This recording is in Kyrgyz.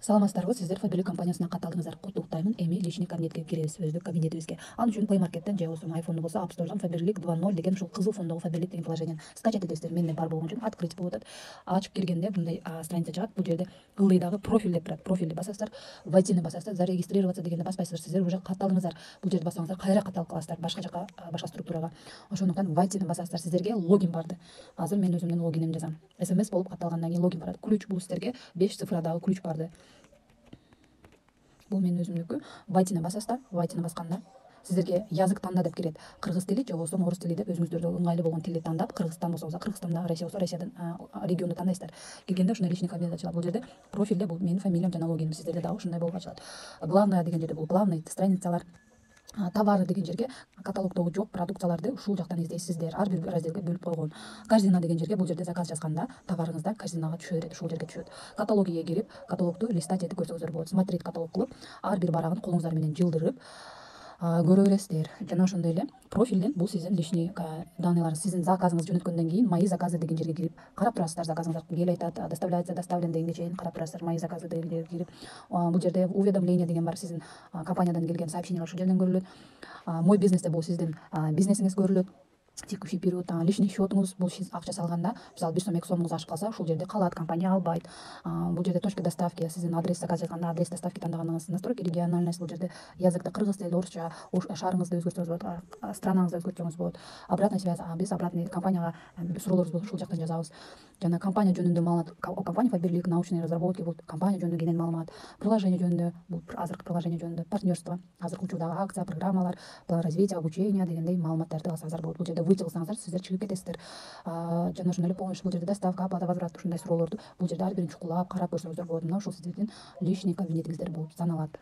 Саламатсыздарбы, сиздер Фаберлик компаниясына катталдыңыздар. Куттуктаймын. Эми личный кабинетке киребиз, өздүк кабинетибизге. Ал үчүн Play Market'ten же болбосо iPhone'ду болсо App Store'дан Фаберлик 2.0 деген ушул кызыл фондогу Фаберлик деген приложениени скачать этесиздер. Менде бар болгон үчүн открыть болуп атат. Ачып киргенде мындай страница чыгат. Бул жерде ылдыйдагы профиль деп турат. Профилди басасыздар, войтини басасыздар, зарегистрироваться дегенди баспайсыздар. Сиздер уже катталдыңыздар. Бул жерди бассаңыздар кайра катталып каласыздар, башка жака, башка структурага. Ошондуктан войтини басасыздар. Сиздерге логин барды. Азыр мен өзүмдүн логинимди жазам. SMS болуп катталгандан кийин логин барат. Ключ бул сиздерге 5 цифрадагы ключ барды. Бул менин өзүмдүкү. Войтини басасыздар. Войтини басканда сиздерге язык танда деп кирет. Кыргыз тили же болбосо орус тили деп өзүңүздөргө ыңгайлуу болгон тилди тандап, Кыргызстан болсо Кыргызстанда, Россия болсо Россиядан регионду тандайсыздар. Киргенде ушундай личный кабинет ачылат. Бул жерде профилде бул менин фамилиям жана логиним. Сиздерде дагы ушундай болуп ачылат. Главное деген жерде бул главный страницалар. Товары деген жерге каталогдогу жок продукцияларды ушул жактан издейсиздер. Ар бир разделге бөлүп койгон. Корзина деген жерге бул жерде заказ жазганда товарыңыздар корзинага түшө берет, ушул жерге түшөт. Каталогиге кирип, каталогду листать этип көрсөңүздөр болот. Смотреть каталог кылып, ар бир барагын колуңуздар менен жылдырып көрө бересиздер. Жана ошондой эле профилден бул сиздин личный данныйларыңыз. Сиздин заказыңыз жөнөткөндөн кийин мои заказы деген жерге кирип карап турасыздар. Заказыңыздар келип атат, доставляется, доставлен дегенге чейин карап турасыздар. Мои заказы деген жерге кирип, бул жерде уведомление деген бар, сиздин компаниядан келген сообщениялар ушул жерден көрүлөт. Мой бизнесте бул сиздин бизнесиңиз көрүлөт. Текущий период, личный счетуңуз, бул акча салганда, мисалы 1 сом 2 сомуңуз ашып калса, ушул жерде калат, компания албайт. Бул жерде точка доставки, сиздин адрес заказ жазганда адрес доставки тандагандыгыңыз, настройки региональность, бул жерде языкты кыргыз тили, орусча, шаарыңызды өзгөртсөңүз болот, странаңызды өзгөртсөңүз болот. Обратная связь, биз обратный компанияга суроолорубуз болсо ушул жактан жазабыз. Жана компания жөнүндө маалымат, компания Фаберлик научные разработки, бул компания жөнүндө кенен маалымат, приложение жөнүндө, бул азыркы приложение жөнүндө, партнерство, азыркы учурдагы акция, программалар, план развития, обучения дегендей маалыматтарды алсаңыздар болот. Бул жерде выйти кылсаңыздар, сиздер чыгып кетесиздер. Жана ошондой эле помощь, бул жерде доставка, оплата, возврат, ушундай суроолорду бул жерде ар бирин чукулап карап көрсөңүздөр болот. Мына ушул сиздердин личный кабинетиңиздер болуп саналат.